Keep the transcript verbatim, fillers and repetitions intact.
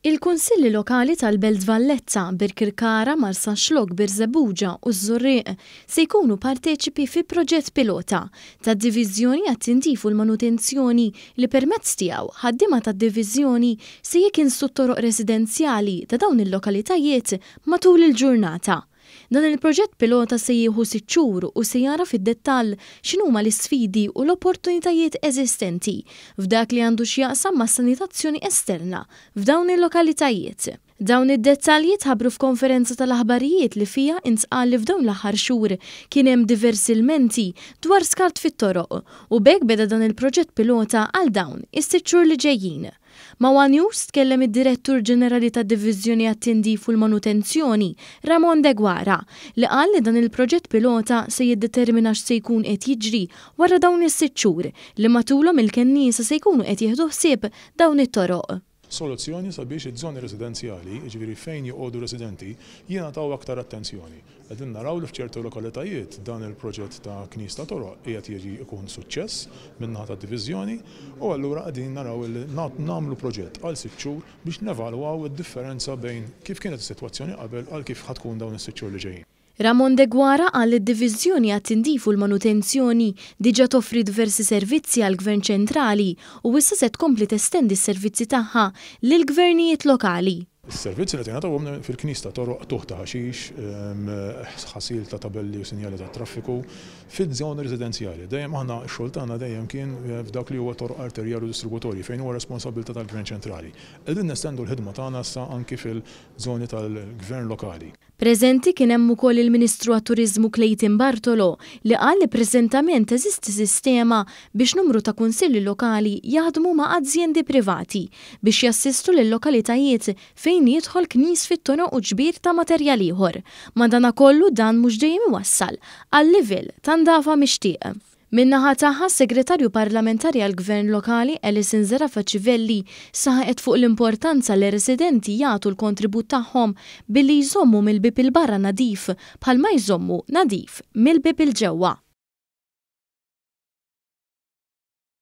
Il-Kunsilli Lokali tal-Belt Valletta, Birkirkara, Marsaxlokk, Birżebbuġa u ż-Żurrieq se jkunu parteċipi fi proġett pilota tad-Diviżjoni għat-Tindif u l-Manutenzjoni li permezz tiegħu ħaddiema tad-diviżjoni se jikinsu t-toroq residenzjali ta' dawn il-lokalitajiet matul il-ġurnata. Dan il-proġett pilota se jieħu sitt xhur u se jara fid-dettall x'inhuma l-isfidi u l-opportunitajiet eżistenti f'dak li għandu x'jaqsam mas-sanitazzjoni esterna f'dawn il-lokalitajiet. Dawn id-dettalji tħabbru f'konferenza tal-aħbarijiet li fiha intqal li f'dawn l-aħħar xhur kien hemm diversi lmenti dwar skart fit-toroq u b'hekk beda dan il-proġett pilota għal dawn is-sitt xhur li ġejjin. Ma' One News tkellem id-Direttur Ġenerali tad-Diviżjoni għat-Tindif u l-Manutenzjoni, Ramon Deguara, li qal li dan il-proġett pilota se jiddetermina x'se jkun qed jiġri wara dawn is-sitt xhur li matulhom il-kenniesa se jkunu qed jieħdu ħsieb dawn it-toroq. Soluzzjoni sabiex iż-żoni residenzjali, jiġifieri fejn joqogħdu residenti, jingħataw aktar attenzjoni. Qegħdin naraw li f'ċertu lokalitajiet dan il-proġett ta' knis ta' toroq qiegħed jiġi jkun suċċess min-naħa tad-diviżjoni u allura qegħdin naraw li nagħmlu proġett għal sitt xhur biex nevalwaw id-differenza bejn kif kienet is-sitwazzjoni qabel għal kif ħa tkun dawn is-sitt xhur li ġejjin. Ramon Deguara qal li d-Diviżjoni għat-Tindif u l-Manutenzjoni diġà toffri diversi servizzi għall-Gvern ċentrali u issa se tkompli testendi s-servizzi tagħha lill-gvernijiet lokali. Is-servizzi li tingħataw fil-knis ta' toroq, tuħ ta' ħaxix, ħasil ta' tabelli u sinjali tat-traffiku fiż-żoni residenzjali. Dejjem aħna x-xogħol tagħna dejjem kien f'dak li huwa toroq arterjali u distributorji fejn huwa responsabilità tal-Gvern ċentrali. Qegħdin nestendu l-ħidma tagħna issa anki fil-żoni tal-Gvern lokali. Preżenti kien hemm ukoll il-Ministru għat-Turiżmu Clayton Bartolo li qal li preżentament teżisti sistema biex numru ta' kunsilli lokali jaħdmu ma' azjendi privati biex jassistu lil lokalitajiet fejn jidħol knis fit-toroq u ġbir ta' materjal ieħor. Madanakollu dan mhux dejjem iwassal għal livell ta' ndafa mixtieq. Min-naħa tagħha s-Segretarju Parlamentari għall-Gvern Lokali Alison Zerafa Civelli saħqet fuq l-importanza li residenti jagħtu l-kontribut tagħhom billi jżommu mill-bieb il barra nadif bħalma jżommu nadif mill-bieb il ġewwa.